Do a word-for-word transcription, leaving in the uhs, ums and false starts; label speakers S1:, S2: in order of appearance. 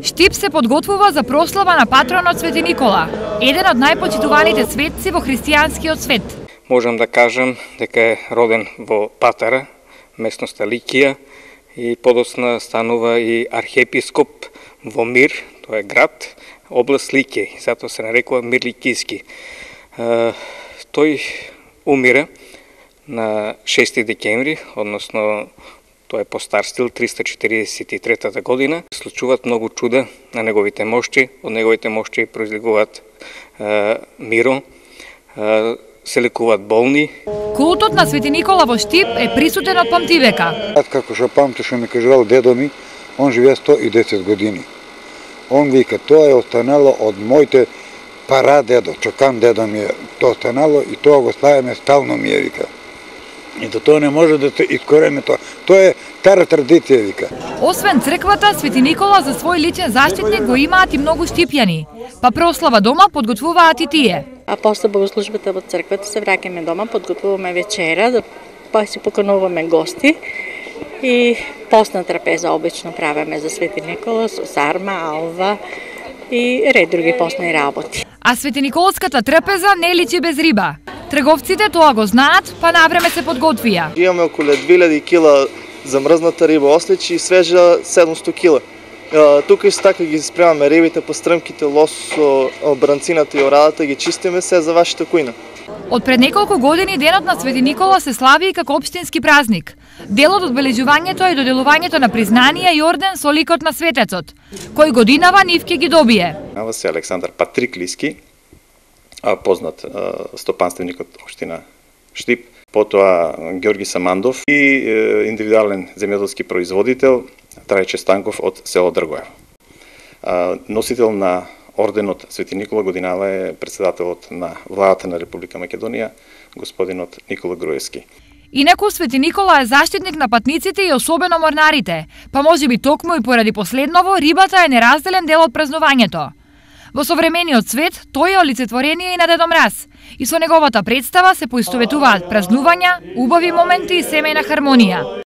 S1: Штип се подготвува за прослава на патронот Свети Никола, еден од најпочитуваните светци во христијанскиот свет.
S2: Можам да кажам дека е роден во Патара, местноста Ликија, и подоцна станува и архиепископ во Мир, тоа е град, област Ликија, затоа се нарекува Мир Ликијски. Тој умира на шести декември, односно тоа е по стар стил, триста четиридесет и трета година. Случуваат многу чуда на неговите мошти, од неговите мошти произлегуваат е, миро, е, се лекуваат болни.
S1: Култот на Свети Никола во Штип е присутен од памтивека.
S3: Како што памти што ми кажал дедо ми, он живее сто и десет години. Он вика, тоа е останало од моите парадедо, чокан дедо ми е, тоа останало и тоа го ставаме стално ми е, вика. И до тоа не може да се искорене тоа. Тоа е стара традиција, вика.
S1: Освен црквата, Свети Никола за свој личен заштитник го имаат и многу штипјани. Па прослава дома подготвуваат и тие.
S4: А после богослужбата во црквата се враќаме дома, подготвуваме вечера, да па си покануваме гости. И постна трапеза обично правиме за Свети Никола со сарма, алва и ред други постни работи.
S1: А Свети Николската трпеза не личи без риба. Трговците тоа го знаат, па навреме се подготвија.
S5: Имаме околу две илјади кила замрзната риба ослич и свежа седумсто кила. Тука исто така ги спремаме рибите, пастръмките, лосо, бранцината и орадата, ги чистиме се за вашата кујна.
S1: Од пред неколку години денот на Свети Никола се слави и како општински празник. Дел од одбележувањето е доделувањето на признанија и орден со ликот на светецот, кој годинава нив ќе ги добие.
S6: Нава се Александар Патриклиски, познат стопанственик од општина Штип, потоа Ѓорги Самандов и индивидуален земјоделски производител Трајче Станков од село Дргоево. Носител на орденот Свети Никола годинава е председателот на владата на Република Македонија, господинот Никола Груевски.
S1: Инаку Свети Никола е заштитник на патниците и особено морнарите, па можеби токму и поради последново рибата е неразделен дел од празнувањето. Во современиот свет тој е олицетворение и на Дедо Мраз, и со неговата представа се поистоветуваат празнувања, убави моменти и семејна хармонија.